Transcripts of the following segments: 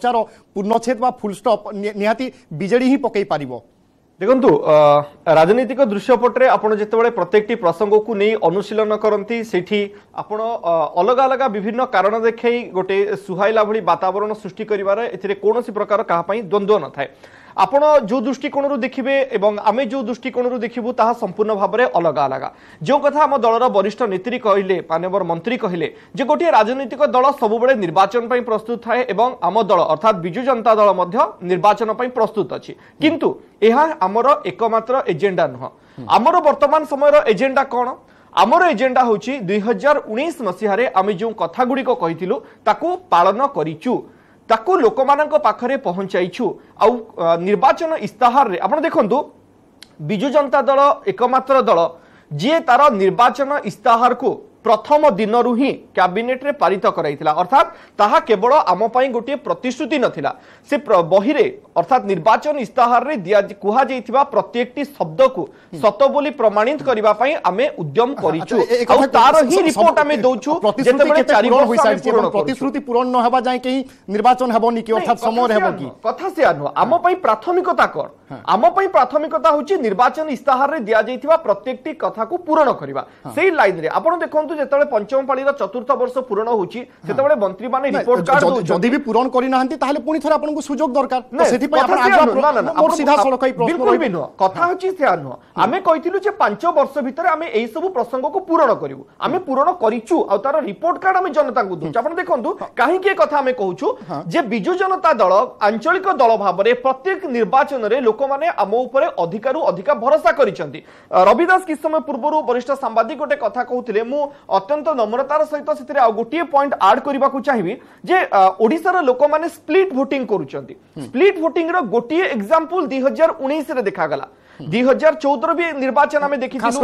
ଚର୍ଚ୍ଚାର ପୂର୍ଣ୍ଣଚ୍ଛେଦ ବା ଫୁଲଷ୍ଟପ୍ ନିହାତି ବିଜେଡି ହିଁ ପକେଇ ପାରିବ? ଦେଖନ୍ତୁ, ରାଜନୈତିକ ଦୃଶ୍ୟପଟରେ ଆପଣ ଯେତେବେଳେ ପ୍ରତ୍ୟେକଟି ପ୍ରସଙ୍ଗକୁ ନେଇ ଅନୁଶୀଳନ କରନ୍ତି, ସେଠି ଆପଣ ଅଲଗା ଅଲଗା ବିଭିନ୍ନ କାରଣ ଦେଖାଇ ଗୋଟେ ସୁହାଇଲା ଭଳି ବାତାବରଣ ସୃଷ୍ଟି କରିବାର ଏଥିରେ କୌଣସି ପ୍ରକାର କାହା ପାଇଁ ଦ୍ୱନ୍ଦ୍ୱ ନଥାଏ। ଆପଣ ଯେଉଁ ଦୃଷ୍ଟିକୋଣରୁ ଦେଖିବେ ଏବଂ ଆମେ ଯେଉଁ ଦୃଷ୍ଟିକୋଣରୁ ଦେଖିବୁ, ତାହା ସମ୍ପୂର୍ଣ୍ଣ ଭାବରେ ଅଲଗା ଅଲଗା। ଯେଉଁ କଥା ଆମ ଦଳର ବରିଷ୍ଠ ନେତ୍ରୀ କହିଲେ, ମାନ୍ୟବର ମନ୍ତ୍ରୀ କହିଲେ ଯେ ଗୋଟିଏ ରାଜନୈତିକ ଦଳ ସବୁବେଳେ ନିର୍ବାଚନ ପାଇଁ ପ୍ରସ୍ତୁତ ଥାଏ ଏବଂ ଆମ ଦଳ ଅର୍ଥାତ୍ ବିଜୁ ଜନତା ଦଳ ମଧ୍ୟ ନିର୍ବାଚନ ପାଇଁ ପ୍ରସ୍ତୁତ ଅଛି। କିନ୍ତୁ ଏହା ଆମର ଏକମାତ୍ର ଏଜେଣ୍ଡା ନୁହଁ। ଆମର ବର୍ତ୍ତମାନ ସମୟର ଏଜେଣ୍ଡା କ'ଣ? ଆମର ଏଜେଣ୍ଡା ହେଉଛି 2019 ମସିହାରେ ଆମେ ଯେଉଁ କଥା ଗୁଡ଼ିକ କହିଥିଲୁ ତାକୁ ପାଳନ କରିଛୁ, ତାକୁ ଲୋକମାନଙ୍କ ପାଖରେ ପହଞ୍ଚାଇଛୁ। ଆଉ ନିର୍ବାଚନ ଇସ୍ତାହାରରେ ଆପଣ ଦେଖନ୍ତୁ, ବିଜୁ ଜନତା ଦଳ ଏକମାତ୍ର ଦଳ ଯିଏ ତାର ନିର୍ବାଚନ ଇସ୍ତାହାରକୁ ପ୍ରଥମ ଦିନରୁ ହିଁ କ୍ୟାବିନେଟରେ ପାରିତ କରାଇଥିଲା। ଅର୍ଥାତ୍ ତାହା କେବଳ ଆମ ପାଇଁ ଗୋଟିଏ ପ୍ରତିଶ୍ରୁତି ନଥିଲା, ସେ ବହିରେ ଅର୍ଥାତ୍ ନିର୍ବାଚନ ଇସ୍ତାହାରରେ ଦିଆ କୁହାଯାଇଥିବା ପ୍ରତ୍ୟେକଟି ଶବ୍ଦକୁ ସତ ବୋଲି ପ୍ରମାଣିତ କରିବା ପାଇଁ ଆମେ ଉଦ୍ୟମ କରିଛୁ ଆଉ ତାର ହିଁ ରିପୋର୍ଟ ଆମେ ଦଉଛୁ ଯେତେବେଳେ 4 ବର୍ଷ। ପ୍ରତିଶ୍ରୁତି ପୂରଣ ନ ହେବା ଯାଏଁ କେହି ନିର୍ବାଚନ ହେବନି କି, ଅର୍ଥାତ୍ ସମୟରେ ହେବ କି? କଥା ସେୟା ନୁହଁ। ଆମ ପାଇଁ ପ୍ରାଥମିକତା କଣ? ଆମ ପାଇଁ ପ୍ରାଥମିକତା ହେଉଛି ନିର୍ବାଚନ ଇସ୍ତାହାରରେ ଦିଆଯାଇଥିବା ପ୍ରତ୍ୟେକଟି କଥାକୁ ପୂରଣ କରିବା। ସେଇ ଲାଇନରେ ଆପଣ ଦେଖନ୍ତୁ, ଯେତେବେଳେ ପଞ୍ଚମ ପାଳିର ଚତୁର୍ଥ ବର୍ଷ ପୂରଣ ହଉଛି, ସେତେବେଳେ ମନ୍ତ୍ରୀମାନେ ରିପୋର୍ଟ କାର୍ଡ। ଯଦି ବି ପୂରଣ କରିନାହାନ୍ତି, ତାହେଲେ ପୁଣି ଥରେ ଆପଣଙ୍କୁ ସୁଯୋଗ ଦରକାର। ସେଥିପାଇଁ ସିଧାସଳଖ ବିଲକୁଲ ବି ନୁହଁ, କଥା ହଉଛି ସେୟା ନୁହଁ। ଆମେ କହିଥିଲୁ ଯେ 5 ବର୍ଷ ଭିତରେ ଆମେ ଏଇ ସବୁ ପ୍ରସଙ୍ଗକୁ ପୂରଣ କରିବୁ, ଆମେ ପୂରଣ କରିଛୁ ଆଉ ତାର ରିପୋର୍ଟ କାର୍ଡ ଆମେ ଜନତାଙ୍କୁ ଦଉଛୁ। ଆପଣ ଦେଖନ୍ତୁ, କାହିଁକି ଏ କଥା ଆମେ କହୁଛୁ ଯେ ବିଜୁ ଜନତା ଦଳ ଆଞ୍ଚଳିକ ଦଳ ଭାବରେ ପ୍ରତ୍ୟେକ ନିର୍ବାଚନରେ ଲୋକମାନେ ଆମ ଉପରେ ଅଧିକାରୁ ଅଧିକା ଭରସା କରିଛନ୍ତି। ରବି ଦାସ କିଛି ସମୟ ପୂର୍ବରୁ ବରିଷ୍ଠ ସାମ୍ବାଦିକ ଗୋଟେ କଥା କହୁଥିଲେ, ମୁଁ ଅତ୍ୟନ୍ତ ନମ୍ରତାର ସହିତ ସେଥିରେ ଆଉ ଗୋଟିଏ ପଏଣ୍ଟ ଆଡ୍ କରିବାକୁ ଚାହିଁବି ଯେ ଓଡ଼ିଶାର ଲୋକମାନେ ସ୍ପ୍ଲିଟ୍ ଭୋଟିଂ କରୁଛନ୍ତି। ସ୍ପ୍ଲିଟ୍ ଭୋଟିଂର ଗୋଟିଏ ଏକ୍ସାମ୍ପଲ 2019ରେ ଦେଖାଗଲା। 2014ର ବି ନିର୍ବାଚନ ଆମେ ଦେଖିଥିଲୁ।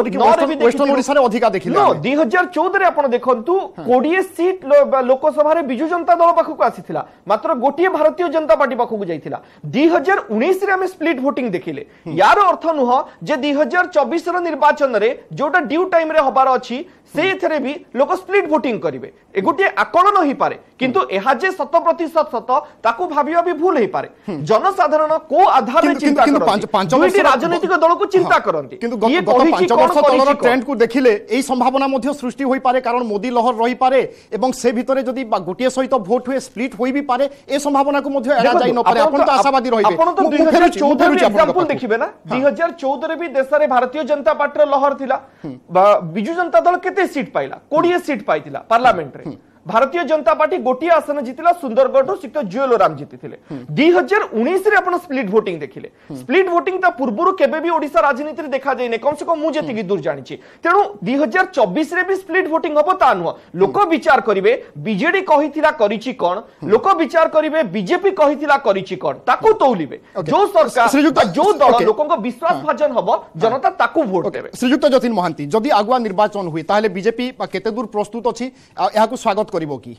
ଓଡ଼ିଶାରେ ଅଧିକା ଦେଖିଲେ। 2014ରେ ଆପଣ ଦେଖନ୍ତୁ, 20 ସିଟ୍ ଲୋକସଭାରେ ବିଜୁ ଜନତା ଦଳ ପାଖକୁ ଆସିଥିଲା, ମାତ୍ର ଗୋଟିଏ ଭାରତୀୟ ଜନତା ପାର୍ଟି ପାଖକୁ ଯାଇଥିଲା। 2019ରେ ଆମେ ସ୍ପ୍ଲିଟ୍ ଭୋଟିଂ ଦେଖିଲେ। ୟାର ଅର୍ଥ ନୁହଁ ଯେ 2024ର ନିର୍ବାଚନରେ ଯୋଉଟା ଡ୍ୟୁ ଟାଇମରେ ହବାର ଅଛି, ସେଇଥିରେ ବି ଲୋକ ସ୍ପ୍ଲିଟ୍ ଭୋଟିଂ କରିବେ। ଏ ଗୋଟିଏ ଆକଳନ ହେଇପାରେ, କିନ୍ତୁ ଏହା ଯେ 100% ସତ ତାକୁ ଭାବିବା ବି ଭୁଲ ହେଇପାରେ। ଜନସାଧାରଣ କୋଉ ଆଧାରରେ ଚିନ୍ତା କରନ୍ତି, ରାଜନୈତିକ ଦଳକୁ ଚିନ୍ତା କରନ୍ତି। କିନ୍ତୁ ଗତ 5 ବର୍ଷ ତଳର ଟ୍ରେଣ୍ଡକୁ ଦେଖିଲେ ଏଇ ସମ୍ଭାବନା ମଧ୍ୟ ସୃଷ୍ଟି ହୋଇପାରେ, କାରଣ ମୋଦି ଲହର ରହିପାରେ ଏବଂ ସେ ଭିତରେ ଯଦି ଗୋଟିଏ ସହିତ ଭୋଟ ହୁଏ, ସ୍ପ୍ଲିଟ୍ ହୋଇ ବି ପାରେ। ଏ ସମ୍ଭାବନାକୁ ମଧ୍ୟ ଏଡ଼ା ଯାଇ ନପାରେ। ଆପଣ ତ ଆଶାବାଦୀ ରହିବେ। ଆପଣ ତ 2014 ଏକ୍ସାମ୍ପଲ ଦେଖିବେ ନା, 2014ରେ ବି ଦେଶରେ ଭାରତୀୟ ଜନତା ପାର୍ଟିର ଲହର ଥିଲା। ବିଜୁ ଜନତା ଦଳ କେତେ ସିଟ୍ ପାଇଲା? 20 ସିଟ୍ ପାଇଥିଲା ପାର୍ଲାମେଣ୍ଟରେ। ଭାରତୀୟ ଜନତା ପାର୍ଟି ଗୋଟିଏ ଆସନ ଜିତିଲା, ସୁନ୍ଦରଗଡ଼ରୁ ଶ୍ରୀଯୁକ୍ତ ଜୁଏଲ ଓରାମ ଜିତିଥିଲେ। 2019ରେ ଆପଣ ସ୍ପ୍ଲିଟ୍ ଭୋଟିଂ ଦେଖିଲେ। ସ୍ପ୍ଲିଟ୍ ଭୋଟିଂ ତା ପୂର୍ବରୁ କେବେ ବି ଓଡ଼ିଶା ରାଜନୀତିରେ ଦେଖାଯାଇନି, କମ ସେ କମ ମୁଁ ଯେତିକି ଦୂର ଜାଣିଛି। ତେଣୁ 2024ରେ ବି ସ୍ପ୍ଲିଟ୍ ଭୋଟିଂ ହବ ତା ନୁହଁ। ଲୋକ ବିଚାର କରିବେ ବିଜେଡି କହିଥିଲା କରିଛି କଣ, ଲୋକ ବିଚାର କରିବେ ବିଜେପି କହିଥିଲା କରିଛି କଣ, ତାକୁ ତୌଲିବେ। ଯୋଉ ସରକାର, ଯୋଉ ଦଳ ଲୋକଙ୍କ ବିଶ୍ୱାସ ଭାଜନ ହବ, ଜନତା ତାକୁ ଭୋଟ ଦେବେ। ଶ୍ରୀଯୁକ୍ତ ଯତୀନ ମହାନ୍ତି, ଯଦି ଆଗୁଆ ନିର୍ବାଚନ ହୁଏ ତାହେଲେ ବିଜେପି କେତେ ଦୂର ପ୍ରସ୍ତୁତ ଅଛି, ଏହାକୁ ସ୍ୱାଗତ କରିବ କି?